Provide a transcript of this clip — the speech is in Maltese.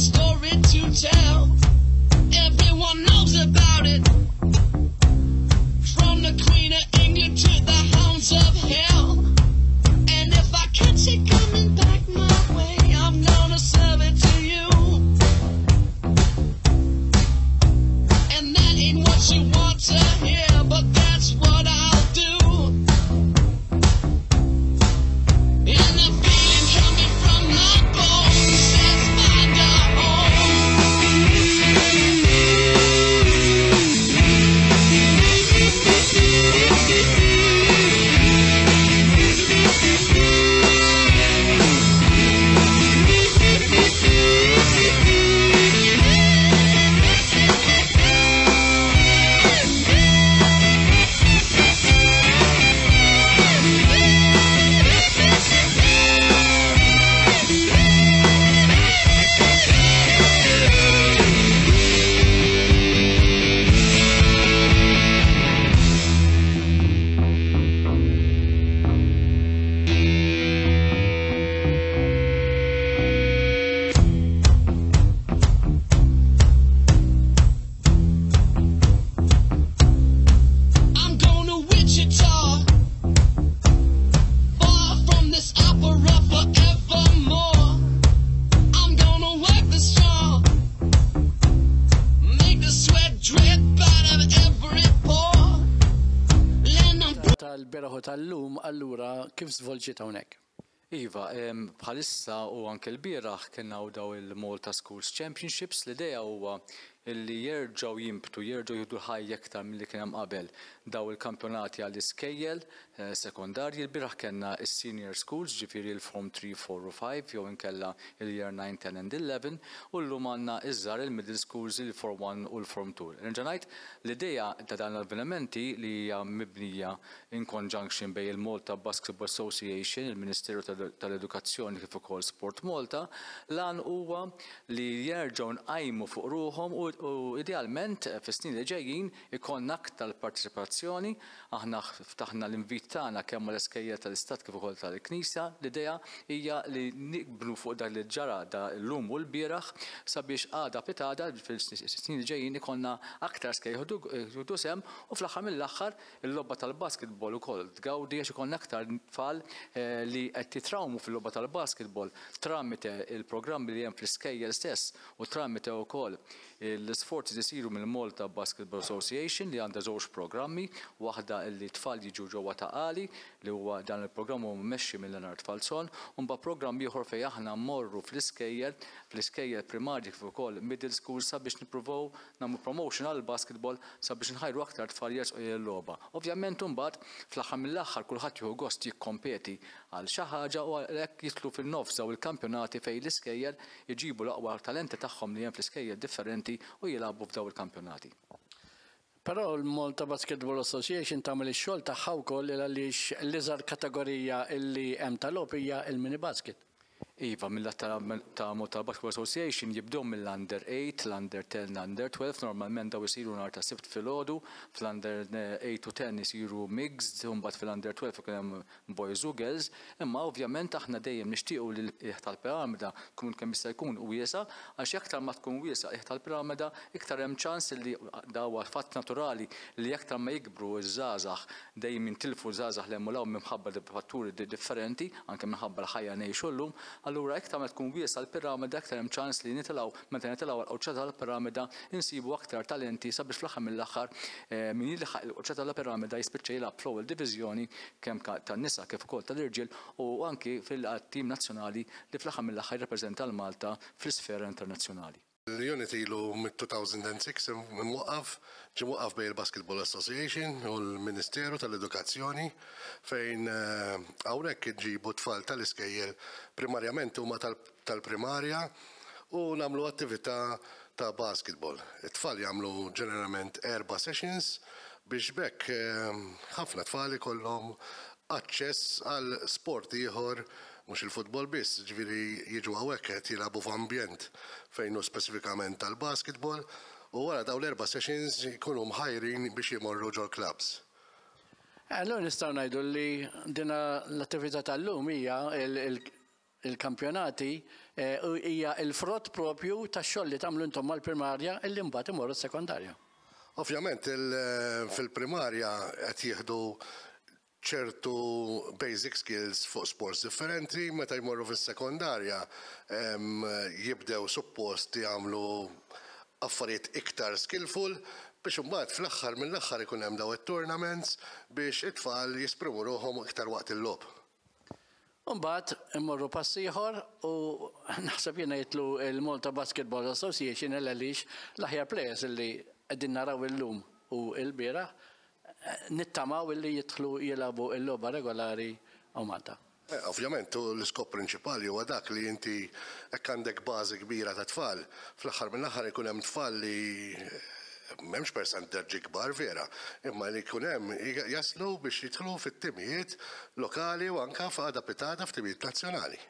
story to tell. Everyone knows about it. From the Queen of England to the Hounds of Hell. And if I catch it coming back my way, I'm gonna serve it to you. And that ain't what you want to hear, but that's what I'll do. And the feeling coming from my bones says find a home. I'm going to Wichita, far from this opera forevermore. I'm gonna work the strong, make the sweat drip out of every pore. And I'm Tal-bieraħ u tal-lum, allura kif żvolġiet hawnhekk? Iva, bħalissa u anke l-bieraħ kien hawn daw il-Malta Schools Championships. L-idea huwa illi jerġgħu jimbtu, jerġgħu jieħdu ħajja iktar milli kien hemm qabel daw il-kampjonati għall-iskejjel sekondarji. Il-bieraħ kellna is-senior schools, ġifieri l-Form 3, 4 u 5, jew inkella il-Year 9, 10 and 11, u llum għandna iż-żgħar, il-middle schools, il-Form 1 u l-Form 2. Nerġa' ngħid, l-idea ta' dan l-avvenimenti li hija mibnija in conjunction bejn il-Malta Basketball Association, il-Ministeru tal-Edukazzjoni kif ukoll Sport Malta, l-għan huwa li jerġgħu nqajmu fuq ruħhom u idealment fis-snin li ġejjin ikollna aktar parteċipazzjoni. Aħna ftaħna l-invit tagħna kemm mal-iskejjel tal-Istat kif ukoll tal-Knisja. L-idea hija li nibnu fuq dak li ġara da llum u l-bieraħ sabiex għada pitgħada fis-snin li ġejjin ikollna aktar skejjel jieħdu sehem u fl-aħħar mill-aħħar il-logħba tal-basketball ukoll tgawdi għax ikollna aktar tfal li qed jitrawmu fil-logħba tal-basketball tramite il-programmi li hemm fl-iskejjel stess u tramite wkoll l-isforzi li jsiru mill-Malta Basketball Association li għandha żewġ programmi, waħda li tfal jiġu ġewwa Ta' Qali, li huwa dan il-programm huwa mmexxi minn Leonard Falzon, u mbagħad programm ieħor fejn aħna mmorru fl-iskejjel, fl-iskejjel primarji kif ukoll middle school sabiex nippruvaw nagħmlu promotion għall-basketball sabiex nħajru aktar tfal jersqu lejn il-logħba. Ovvjament imbagħad fl-aħħar mill-aħħar kulħadd jieħu gost jikkompeti għal xi ħaġa u għalhekk jidħlu fin-nofs daw il-kampjonati fejn l-iskejjel iġibu l-aqwa talenti tagħhom li hemm fl-iskejjel differenti u jilagħbu f'daw il-kampjonati. Però l-Malta Basketball Association tagħmel ix-xogħol tagħha wkoll għaliex l-iżgħar kategorija li hemm tal-logħob hija l-mini basket. Iva, mill-lat ta' Malta Basketball Association jibdew mill-under 8, l-under 10, l-under 12, normalment daw isiru nhar ta' Sibt filgħodu, fl-under 8 u 10 isiru mixed, u mbagħad fil-under 12 ikun hemm boys u girls, imma ovvjament aħna dejjem nixtiequ li l-qiegħ tal-piramida tkun kemm jista' jkun wiesa', għax aktar ma tkun wiesa' qiegħ tal-piramida, iktar hemm ċans li da huwa fatt naturali li aktar ma jikbru ż-żgħażagħ dejjem jintilfu żgħażagħ 'l hemm u 'l hawn minħabba fatturi differenti, anke minħabba l-ħajja ngħixu llum, allura iktar ma tkun wiesa' l-piramida iktar hemm ċans li nitilgħu, meta nitilgħu għall-quċċata tal-piramida insibu aktar talenti sabiex fl-aħħar mill-aħħar min jilħaq il-quċċata tal-piramida jispiċċa jilgħab fl-ewwel diviżjoni kemm tan-nisa kif ukoll tal-irġiel u anki fil-tim nazzjonali li fl-aħħar mill-aħħar jirrappreżenta 'l Malta fl-isfera internazzjonali. L-unit ilu mit-2006 imwaqqaf, ġie mwaqqaf bejn il-Basketball Association u l-Ministeru tal-Edukazzjoni fejn hawnhekk inġibu tfal tal-iskejjel, primarjament huma tal-primarja, u nagħmlu attività ta' basketball. It-tfal jagħmlu ġeneralment erba' sessions biex b'hekk ħafna tfal ikollhom aċċess għal sport ieħor, mhux il-futbol biss, ġifieri jiġu hawnhekk qed jilagħbu f'ambjent fejn hu speċifikament tal-basketball u wara dawn l-erba' sessions jkunu mħajrin biex jmorru ġol-clubs. Allura nistgħu ngħidu li dina l-attività tal-lum hija. il-kampjonati hija l-frott propju tax-xogħol li tagħmlu intom mal-primarja illi mbagħad imorru s-sekondarja. Ovvjament fil-primarja qed jieħdu ċertu basic skills fuq sports differenti, meta jmorru fis-sekondarja jibdew suppost jagħmlu affarijiet iktar skillful biex imbagħad fl-aħħar mill-aħħar ikun hemm dawn it-tournaments biex it-tfal jesprimu ruħhom iktar waqt il-logħob. U mbagħad immorru pass ieħor u naħseb jiena jidħlu l-Malta Basketball Association għaliex l-aħjar players illi qegħdin naraw illum u l-bieraħ nittamaw illi jidħlu jilagħbu l-logħba regolari hawn Malta. Ovvjament, u l-iskop prinċipali huwa dak li inti hekk għandek bażi kbira ta' tfal, fl-aħħar mill-aħħar ikun hemm tfal li m'hemmx persentaġġi kbar vera, imma li jkun hemm jaslu biex jidħlu fit-timijiet lokali u anke f'għada pitgħada f'timijiet nazzjonali.